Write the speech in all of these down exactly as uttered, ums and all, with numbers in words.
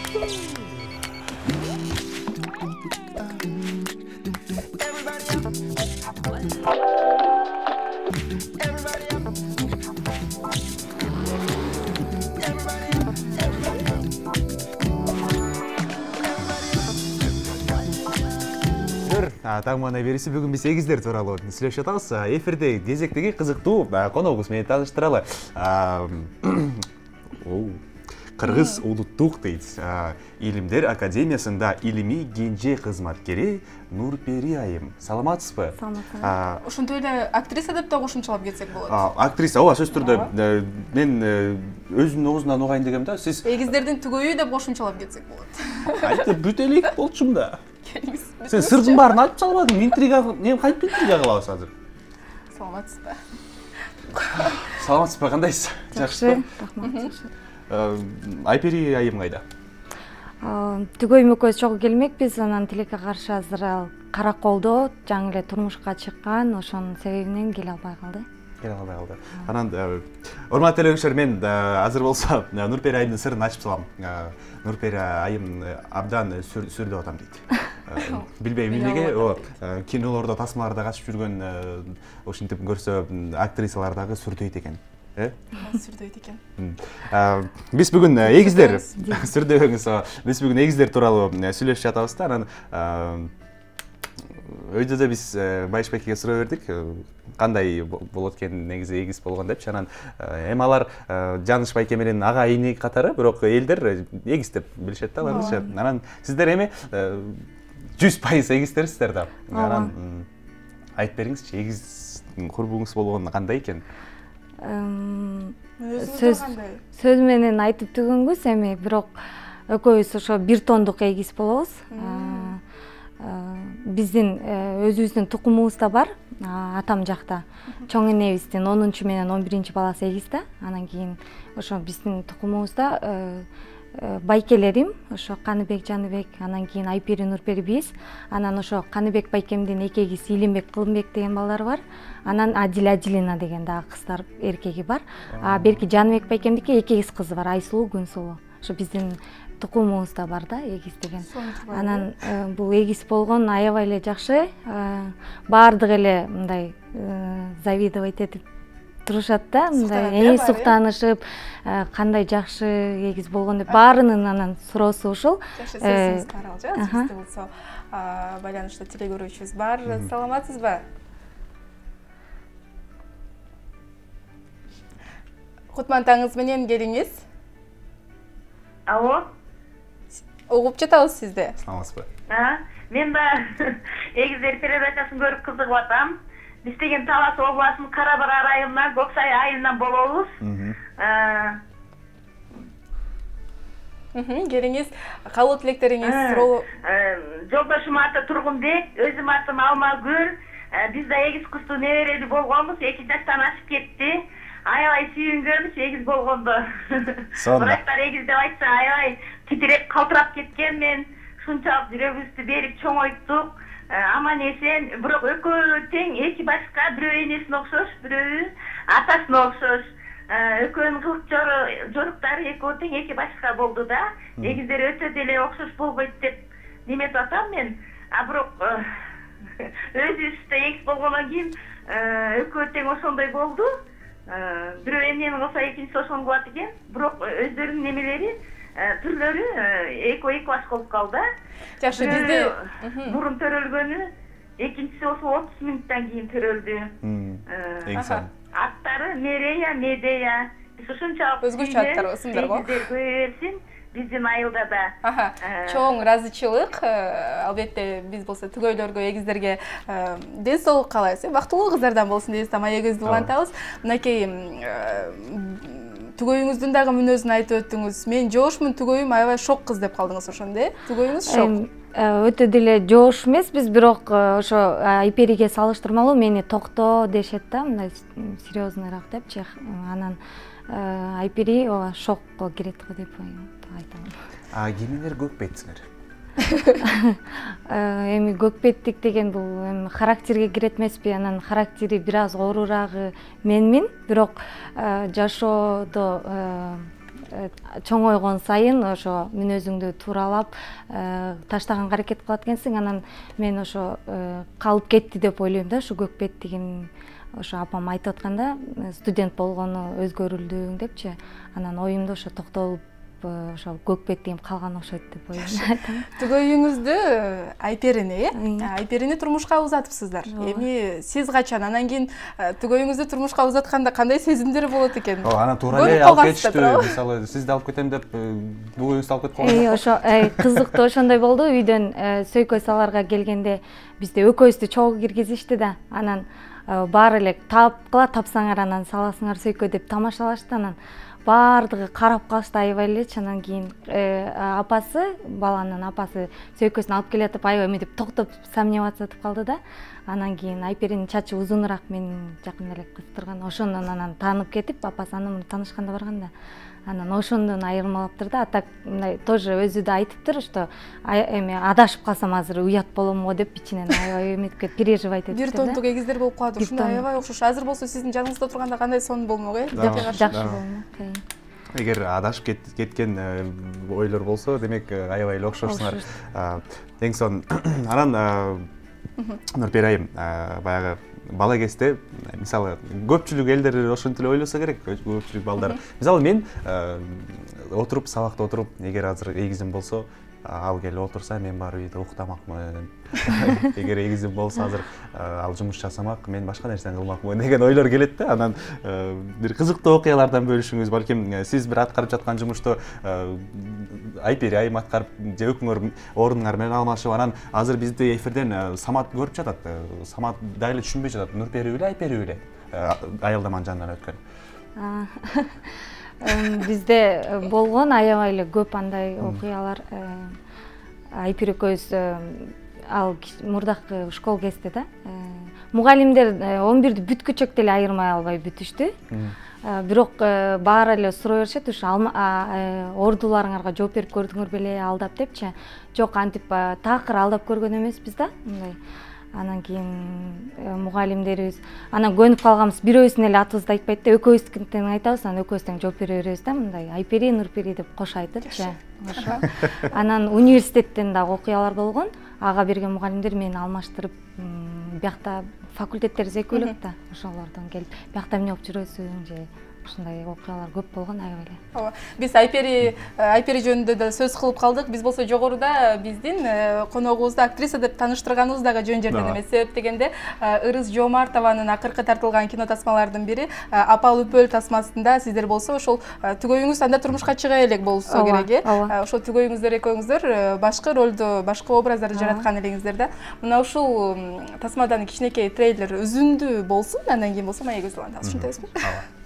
Таң мана бериси бүгүн биз эгиздер тууралуу сүйлөшүп атабыз. Эфирде кезектеги кызыктуу коногубуз менен тааныштыралы. Кыргыз улуттук дейт Илимдер академиясында илимий кенже кызматкери Нурпери айым. Саламатсызбы? Саламатсызбы. Ошондой эле актриса деп да кошумчалап кетсек болот. Актриса, ооба, сөзсүз түрдө мен өзүмдүн оозунан угайын дегем да. Сиз эгиздердин түгөйү деп кошумчалап кетсек болот. Айтып бүт элек болчумун да. Сен сырдын баарын айтып салбадың, интрига, эми кантип интрига кылабыз азыр? Саламатсызбы? Саламатсызбы, кандайсыз? Жакшы, рахмат, жакшы. Айпери айым кайда? Түгөйүм экөөбүз чогуу келмекпиз, анан тилекке каршы азыр ал Караколдо жаңы эле турмушка чыккан, ошонун себебинен келе албай калды. Келе албай калды. Анан урматтуу элеңиштер, мен азыр болсо Нурпери айымдын сырын ачып салам. Нурпери айым абдан сүрдөп атам дейт. Билбейм эмнеге, кинолордо, тасмаларда качып жүргөн, ошентип көрсө актрисалар дагы сүрдөйт экен. Сүрдөйт экен. Биз бүгүн эгиздер сүрдөбөңүз. Биз бүгүн эгиздер тууралуу сүйлөшүп жатабыз да. Анан өйдө да биз Байышбекке суроо бердик, кандай болот экен негизи эгиз болгон депчи. Анан эми алар Жаныш байке менен ага ине катары, бирок элдер эгиз деп билишет да аларчы. Анан сиздер эми жүз пайыз эгиздерсиздер да. Анан айтып бериңизчи, эгиз курбуңуз болгон кандай экен? Сөз сөз менен айтып түгөнгүс, эми бирок экөөбүз ошо бир тондук эгиз болобуз. Биздин өзүбүздүн тукумубуз да бар. Атам жакта чоң энебиздин онунчу менен он биринчи баласы эгиз да. Анан кийин ошо биздин тукумубузда байкелерим ошо Каныбек, Жаныбек, анан кийин Айпери, Нурпери биз. Анан ошо Каныбек байкемдин эки эгизи Илимбек, Кылымбек деген балдар бар. Анан Адил, Адилина деген дагы кыздар, эркеги бар. А берки Жаныбек байкемдики эки эгиз кызы бар, Айсулуу, Күнсулуу. Ошо биздин тукумубузда бар да эгиз деген. Анан бул эгиз болгон аябай эле жакшы. Баардык эле мындай завидовать этип турушат да, мындай эң суктанышып, кандай жакшы эгиз болгон деп баарынын анан суроосу ушул. Жакшы, сөзүңүз каралжы, сизде болсо байланышта теле көрүүчүбүз бар. Саламатсызбы? Кутмантаңыз менен келиңиз. Алло. Угуп жатабыз сизди. Саламатсызбы? Мен да эгиздер передачасын көрүп кызыгып атам. Биз деген Талас областынын Кара-Бара районунан Көксай айылынан болобуз. Келиңиз, калуу тилектериңиз, суроо. Жолдошум аты Тургунбек, өзүм атым Алмагүл. Биз да эгиз кыздуу неберели болгонбуз, эки жаштан ашып кетти. Аябай сүйүнгөнбүз эгиз болгондо. Бирактар эгиз деп айтса аябай титиреп, калтырап кеткен мен. Шунчалык жүрөгүбүздү берип чоңойттук. Аман эсен, бирок экөө тең, эки башка, бирөө энесине окшош, бирөө атасына окшош. Экөөнүн кылык жоруктары экөө тең, эки башка болду да. Эгиздер өтө деле окшош болбойт деп неметип атам мен. А бирок өзүбүздө эгиз болгондон кийин экөө тең ошондой болду. Бирөө эмнени кылса экинчиси ошону кылат экен. Бирок өздөрүнүн немелери, түрлөрү экөө эки баш болуп калды. Жакшы, бизде мурун төрөлгөнү, экинчиси ошо отуз мүнөттөн кийин төрөлдү. Аттары Мерея, Медея. Биз ушунчалык өзгөчө аттар болсундарбы? Эгиздер көбөйө берсин. Биздин айылда да. Чоң ыраазычылык. Албетте биз болсо түгөйлөргө, эгиздерге ден соолук каалайбыз. Бактылуу кыздардан болсун дейбиз, маегибизди улантабыз. Мынакей түгөйүңүздүн дагы мүнөзүн айтып өттүңүз. Мен жошмун, түгөйүм аябай шок кыз деп калдыңыз ошондо, э? Түгөйүңүз шок. Өтө деле жош эмеспиз, бирок ошо Айпериге салыштырмалуу мени токто дешет да, мындай серьезныйраак депчи. Анан Айпери шокко кирет го деп айтам. А кимдер көкпетсиңер? Эми көкпеттик деген бул эми характерге кирет эмеспи? Анан характери бир аз оорураагы менмин, бирок жашоодо чоңойгон сайын ошо мүнөзүңдү тууралап таштаганга аракет кылат экенсиң. Анан мен ошо калып кетти деп ойлойм да, ушу көк бет деген ошо апам айтып атканда студент болгону өзгөрүлдүң депчи. Анан оюмда ошо токтолуп ошо көк бет деген калган окшойт деп ойлойм. Түгөйүңүздү Айперини, э? Айперини турмушка узатыпсыздар. Эми сиз качан, анан кийин түгөйүңүздү турмушка узатканда кандай сезимдер болот экен? Ооба, анан туура эле алып кетиштү. Мисалы, сизди алып кетем деп түгөйүңүздү алып кетип калган. Ошо кызыктуу ошондой болду. Үйдөн сөйкөй саларга келгенде бизде экөөбүздү чогуу киргизишти да. Анан баары эле тапкыла, тапсаңар анан саласыңар сөйкөй деп тамашалашты. Анан баардыгы карап калышты, аябай элечи. Анан кийин апасы, баланын апасы сөйкөсүн алып келатып, аябай мынтип токтоп сомневаться этип калды да. Анан кийин Айперинин чачы узунураак, менин жакында эле кыз турган. Ошондон анан таанып кетип, апасы анын таанышканда барганда. Анан ошондон айырмалаптыр да. А так мындай тоже өзү да айтыптыр, что эми адашып калсам азыр уят болом го деп ичинен аябай эметип переживать этиптир да. Бир тонтук эгиздер болуп калат, ушундай аябай окшош. Азыр болсо сиздин жаныңызда турганда кандай сонун болмок, э? Жакшы болмок. Эгер адашып кеткен ойлор болсо, демек аябай эле окшошсуңар. Эң сонун. Анан Нурпери айым, баягы бала кезде, мисалы, көпчүлүк элдер ошентип эле ойлосо керек, көпчүлүк балдар. Мисалы, мен отуруп, сабакта отуруп, эгер азыр эгизим болсо, ал келип отурса, мен барып үйдө уктамакмын. Эгер эгизим болсо, азыр ал жумуш жасамак, мен башка нерсени кылмакмын деген ойлор келет да. Анан бир кызыктуу окуялардан бөлүшүңүз, балким сиз бир аткарып жаткан жумушту Айпери айым аткарып, же экөөңөр ордуңар менен алмашып, анан азыр бизде эфирден Самат көрүп жатат. Самат дайылы түшүнбөй жатат. Нурпери беле, Айпери беле? Аялдаманын жанынан өткөн. Бизде болгон аябай эле көп андай окуялар. Айпери экөөбүз ал мурдакы школ кезде да. Мугалимдер он бирди бүткүчөк деле айырмай албай бүтүштү. Бирок баары эле суроо беришет, ушу ордуларыңарга жооп берип көрдүңөр беле, алдап депчи. Жок, антип такыр алдап көргөн эмеспиз да. Мындай. Анан кийин мугалимдерибиз анан көнүп калганбыз, бирөөбүздүн эле атыбызды айтпайт да, экөөбүздүн айтабыз, анан экөөбүз тең жооп бере беребиз да, мындай Айпери, Нурпери деп кошо айтыпчы. Ошо. Анан университеттен дагы окуялар болгон. Ага берген мугалимдер мени алмаштырып, биякта факультеттерибиз экөөлөк да, ошолордон келип, биякта эмне болуп жүрөсүң же ушундай окуялар көп болгон аябай эле. Ооба. Биз Айпери Айпери жөнүндө да сөз кылып калдык. Биз болсо жогоруда биздин коногубузду актриса деп тааныштырганыбыз дагы жөн жерден эмес. Себеп дегенде Ырыс Жоомартованын акыркы тартылган кино тасмалардын бири Апал Үпөл тасмасында сиздер болсо ошол түгөйүңүз анда турмушка чыга элек болсо керек, э? Ошол түгөйүңүздөр экөөңүздөр башкы ролду, башкы образдарды жараткан элеңиздер да. Мына ушул тасмадан кичинекей трейлер үзүндү болсун, андан кийин болсо маек көзү алабыз. Ушунтайбызбы? Ооба.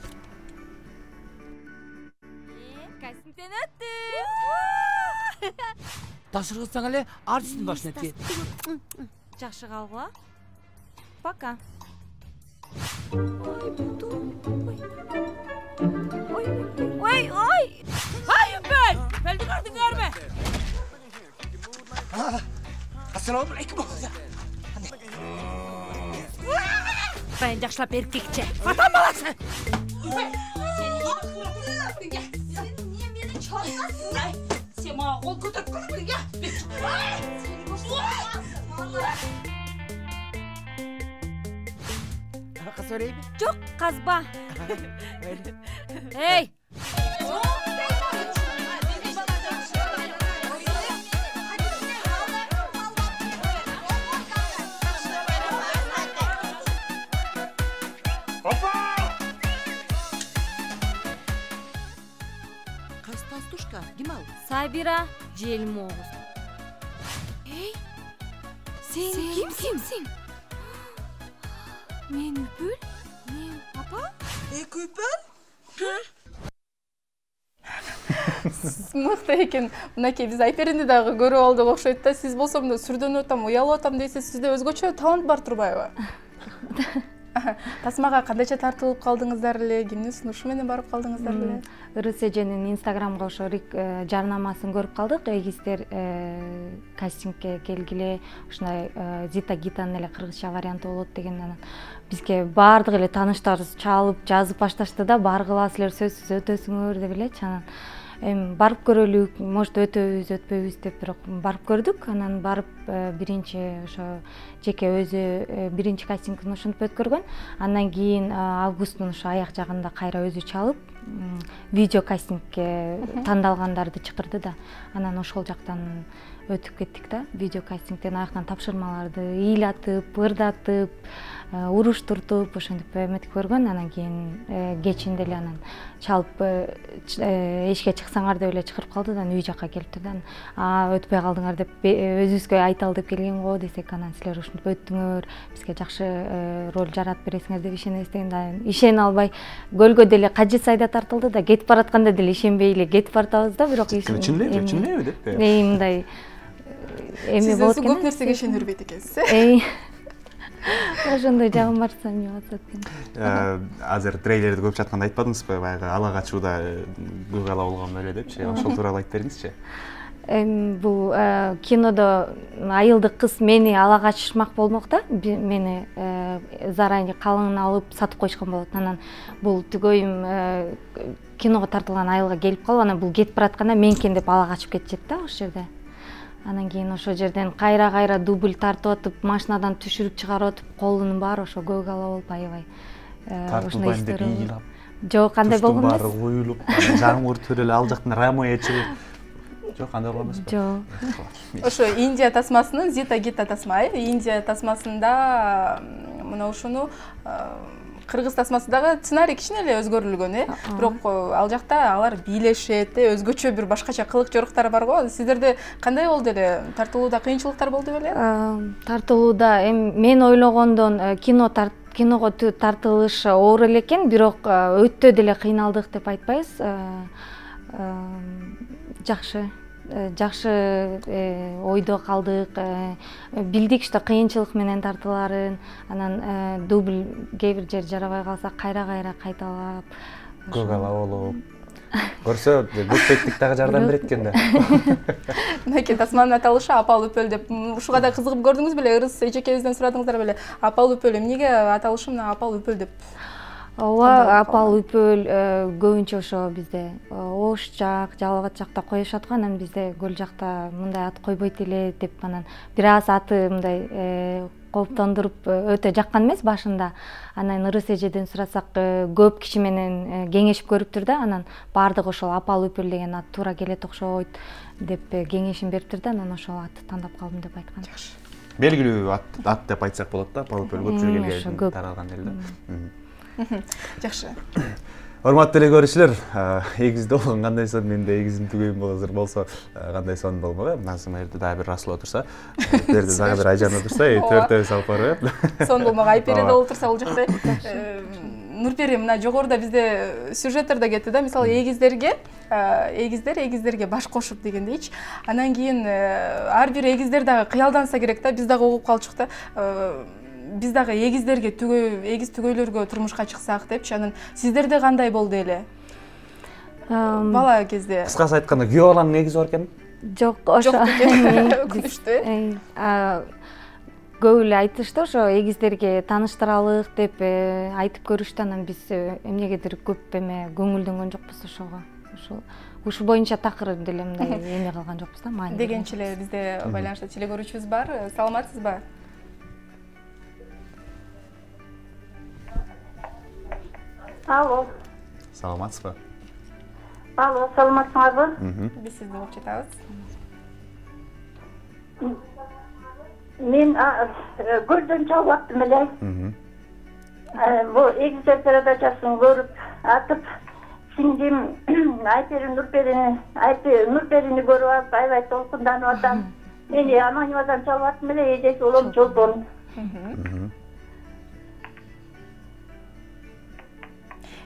Ташыргысаң эле артисттин башына тие. Жакшы калгыла. Пока. Ой, ой. Ай, Үпөл! Үпөлдү көрдүңөрбү? Ассаламу алейкум. Мен жакшылап эркекче. Атам баласы. Сен мага кол көтөрүп көрдүң, я? Каза берейби? Жок, казба. Эй! Сабира Желмогуз. Эй, сен кимсиң? Мен Үпөл? Мен апа? Эки Үпөл? Мыкты экен. Мынакей биз Айперини дагы көрүп алдык окшойт да. Сиз болсо мында сүрдөнүп атам, уялып атам дейсиз, сизде өзгөчө талант бар турбайбы? Тасмага кандайча тартылып калдыңыздар эле, кимдин сунушу менен барып калдыңыздар эле? Ырыс эженин инстаграмга ошо жарнамасын көрүп калдык. Эгиздер кастингге келгиле, ушундай Зита Гитанын эле кыргызча варианты болот деген. Анан бизге баардык эле тааныштарыбыз чалып, жазып башташты да, баргыла силер сөзсүз өтөсүңөр деп элечи. Анан эми барып көрөлүк, может өтөбүз, өтпөйбүз деп, бирок барып көрдүк. Анан барып биринчи ошо жеке өзү биринчи кастингин ушинтип өткөргөн. Андан кийин августтун ошо аяк жагында кайра өзү чалып, видео кастингге тандалгандарды чакырды да. Анан ошол жактан өтүп кеттик да. Видео кастингден аяктан тапшырмаларды ыйлатып, ырдатып, уруштуртуп ошентип эметип көргөн. Анан кийин кечинде эле анан чалып эшикке чыксаңар деп эле чакырып калды да, үй жакка келиптир да. А өтпөй калдыңар деп өзүбүзгө айталы деп келген го десек, анан силер ушинтип өттүңөр, бизге жакшы роль жаратып бересиңер деп ишенебиз деген. Ишене албай көлгө деле кажет сайда тартылды да, кетип баратканда деле ишенбей эле кетип баратабыз да, бирок чын элеби, чын элеби деп. Эми мындай эми болот экен. Сиз көп нерсеге ишенербейт экенсиз, э? Ошондой жагым бар сами атат экен. Азыр трейлерди көп жатканда айтпадыңызбы, баягы ала качууда көк ала болгон эле депчи. Ошол тууралуу айтып бериңизчи. Эми бул кинодо айылдык кыз мени ала качышмак болмок да. Мени заранее калыңын алып сатып коюшкан болот. Анан бул түгөйүм киного тартылган айылга келип калып, анан бул кетип баратканда мен экен деп ала качып кетишет да ошол жерде. Анан кийин ошол жерден кайра-кайра дубль тартып атып, машинадан түшүрүп чыгарып атып, колунун баары ошо көк ала болуп аябай. Тартылбайм деп ыйлап. Жок, кандай болгон эмес. Баары коюлуп, жамгыр төрөлүп, ал жактан рамоя чыгып. Жок, кандай болгон эмеспи? Жок. Ошо Индия тасмасынын Зита Гита тасма, э? Индия тасмасында мына ушуну кыргыз тасмасы дагы сценарий кичине эле өзгөрүлгөн, э? Бирок ал жакта алар бийлешет, өзгөчө бир башкача кылык жоруктар бар го. Сиздерде кандай болду эле? Тартылууда кыйынчылыктар болду беле? Тартылууда эми мен ойлогондон кино киного тартылыш оор эле экен, бирок өтө деле кыйналдык деп айтпайбыз. Жакшы. Жакшы ойдо калдык, билдик что кыйынчылык менен тартыларын, анан дубль кээ бир жер жарабай калса кайра-кайра кайталап, көк ала болуп. Көрсө, көппеттик дагы жардам берет экен да. Мынакей тасманын аталышы Апал Үпөл деп, ушуга да кызыгып көрдүңүз беле? Ырыс эжекебизден сурадыңыздар беле? Апал Үпөл, эмнеге аталышы мына Апал Үпөл деп? Ооба, Апал Үпөл көбүнчө ошо бизде Ош жак, Жалал Абад жакта коюшат го, анан бизде көл жакта мындай ат койбойт эле деп, анан бир аз аты мындай кооптондуруп өтө жаккан эмес башында. Анан Ырыс эжеден сурасак, көп киши менен кеңешип көрүптүр да, анан баардыгы ошол Апал Үпөл деген ат туура келет окшойт деп кеңешин бериптир да, анан ошол атты тандап калдым деп айткан. Жакшы. Белгилүү ат деп айтсак болот да, Апал Үпөл көпчүлүк элге таралган эле да. Жакшы. Урматтуу эле көрүүчүлөр, эгизде болгон кандай сон, менде эгизим түгөйүм азыр болсо кандай сон болмок, э? Назым жерде дагы бир Расул отурса, берде дагы бир Айжан отурса, төртөөбүз алып барып, э? Сон болмок, Айпери да отурса бул жакта. Нурпери, мына жогоруда бизде сюжеттерде кетти да, мисалы эгиздерге, эгиздер эгиздерге баш кошуп дегендейчи. Анан кийин ар бир эгиздер дагы кыялданса керек да, биз дагы угуп калчук да. Биз дагы эгиздерге түгөй, эгиз түгөйлөргө турмушка чыксак депчи. Анан сиздерде кандай болду эле? Бала кезде. Кыскасы айтканда, күйөө баланын эгизи бар экен? Жок, ошо. Өкүнүчтүү. Көп эле айтышты ошо эгиздерге тааныштыралык деп айтып көрүштү, анан биз эмнегедир көп эме көңүлдөнгөн жокпуз ошого. Ошол ушу боюнча такыр деле мындай эме кылган жокпуз да, маани. Дегенче эле бизде байланышта теле көрүүчүбүз бар. Саламатсызбы? Алло. Саламатсызбы? Алло, саламатсыңарбы? Биз сизди угуп жатабыз. Мен көлдөн чалып аттым эле. Бул эгиздер передачасын көрүп атып, сиңдим Айпери Нурперини, Айпери Нурперини көрүп алып, аябай толкунданып атам. Мени анонимадан чалып аттым эле, эжеси улам Чолпон.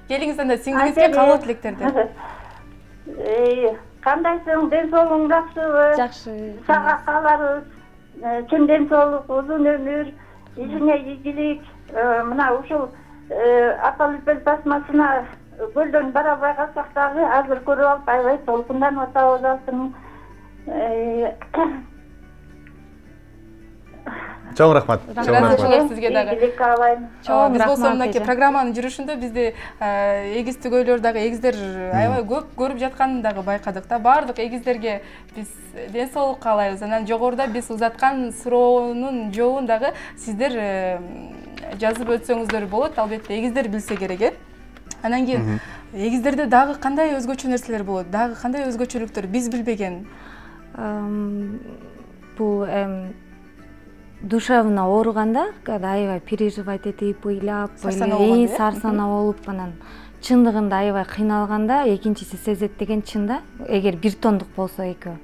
Келиңиз анда сиңдиңизге каалоо тилектерди. Кандайсың, ден соолугуң жакшыбы? Жакшы. Сага кааларыбыз чын ден соолук, узун өмүр, ишине ийгилик. Мына ушул Апал Үпөл басмасына көлдөн бара албай калсак дагы азыр көрүп алып аябай толкунданып атабыз алтын. Чоң рахмат. Чоң рахмат сизге дагы. Ийгилик каалайм. Чоң биз болсо мынакей программанын жүрүшүндө бизди эгиз төгөйлөр дагы эгиздер аябай көп көрүп жатканын дагы байкадык да. Баардык эгиздерге биз ден соолук каалайбыз. Анан жогоруда биз узаткан суроонун жообун дагы сиздер жазып өтсөңүздөр болот. Албетте эгиздер билсе керек э. Анан кийин эгиздерде дагы кандай өзгөчө нерселер болот? Дагы кандай өзгөчөлүктөр биз билбеген? Бул душевно ооруганда аябай переживать этип, ыйлап, эң сарсана болуп, анан чындыгында аябай кыйналганда экинчиси сезет деген чын да. Эгер бир тондук болсо экөө.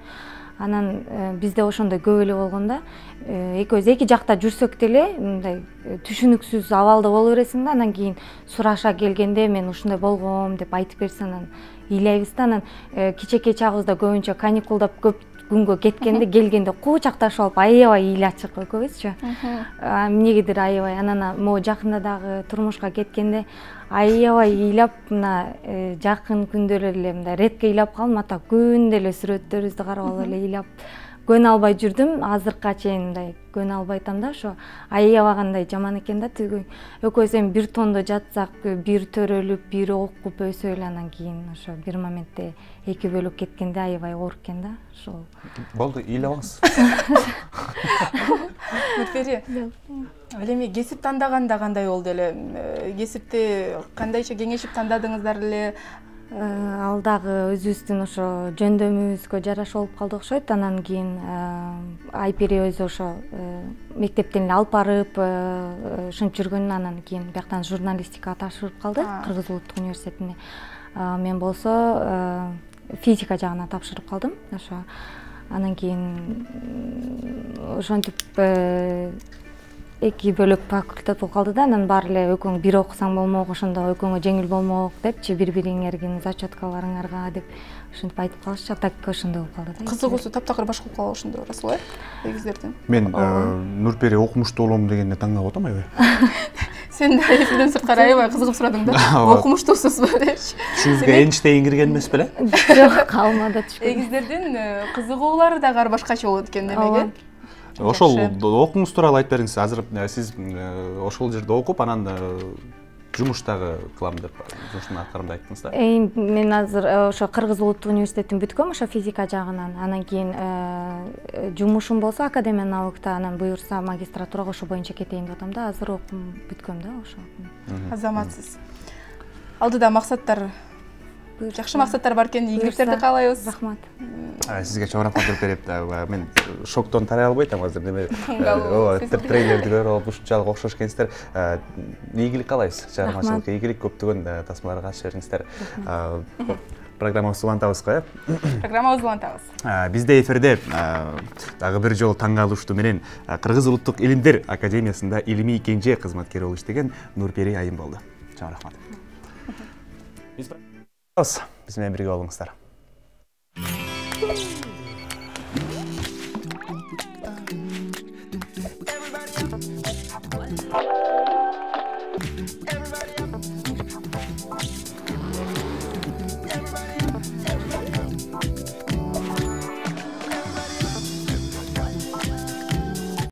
Анан бизде ошондой көп эле болгондо, экөөбүз эки жакта жүрсөк деле мындай түшүнүксүз абалда боло бересиң да. Анан кийин сураша келгенде мен ушундай болгом деп айтып берсе анан ыйлайбыз да. Анан кичинекей чагыбызда көбүнчө каникулдап көп күнгө кеткенде келгенде куучакташып алып аябай ыйлачык экөөбүзчү. Эмнегедир аябай. Анан могу жакында дагы турмушка кеткенде аябай ыйлап, мына жакын күндөр эле мындай редко ыйлап калдым. Ата күндө эле сүрөттөрүбүздү карап алып эле ыйлап көнө албай жүрдүм. Азыркыга чейин мындай көнө албайтам да. Ошо аябагандай жаман экен да. Тиги экөөбүз эми бир тондо жатсак, бир төрөлүп, бир окуп өсө эле анан кийин ошо бир моментте эки бөлүп кеткенде аябай оор экен да. Ошол. Болду, ыйлабыңыз. Нурпери. Ал эми кесип тандаганда кандай болду эле? Кесипти кандайча кеңешип тандадыңыздар эле? Ал дагы өзүбүздүн ошо жөндөмүбүзгө жараша болуп калды окшойт. Анан кийин Айпери өзү ошо мектептен эле алып барып ушинтип жүргөн. Анан кийин бияктан журналистикага тапшырып калды, Кыргыз Улуттук университетине. Мен болсо физика жагына тапшырып калдым. Ошо анан кийин ошентип эки бөлөк факультет болуп калды да. Анан баары эле экөөң бир окусаң болмок, ошондо экөөңө жеңил болмок депчи, бири-бириңердин зачеткаларыңарга деп ошентип айтып калышчу. Так ошондой болуп калды да. Кызыгуусу таптакыр башка болуп калган ошондо расыл э? Эгиздердин. Мен Нурпери окумуштуу болом дегенде таңгап атам аябай. Сен да эфирден сырткары аябай кызыгып сурадың да. Окумуштуусузбу депчи. Түшүңүзгө Эйнштейн кирген эмес беле? Жок, калмады түшкөн. Эгиздердин кызыгуулары дагы ар башкача болот экен демек э? Ошол окуңуз тууралуу айтып бериңиз. Азыр сиз ошол жерде окуп, анан жумуш дагы кылам деп, жумуштун аткарам деп айттыңыз да. Мен азыр ошо Кыргыз Улуттук университетин бүткөм, ошо физика жагынан. Анан кийин жумушум болсо Академия наукта, анан буюрса магистратурага ошо боюнча кетейин деп атам да. Азыр окуум бүткөм да ошо. Азаматсыз. Алдыда максаттар, жакшы максаттар бар экен, ийгиликтерди каалайбыз. Рахмат. Сизге чоң рахмат берип, мен шоктон тарай албайм азыр. Неме ооба, трейлерди көрүп алып ушунчалык окшош экенсиздер. Ийгилик каалайбыз. Чыгармачылыкка ийгилик, көптөгөн тасмаларга катыша бериңиздер. Программабызды улантабыз го, э? Программабызды улантабыз. Бизде эфирде дагы бир жолу таң калыштуу менен Кыргыз Улуттук Илимдер Академиясында илимий кенже кызматкер болуп иштеген Нурпери айым болду. Чоң рахмат. Биз менен бирге болуңуздар.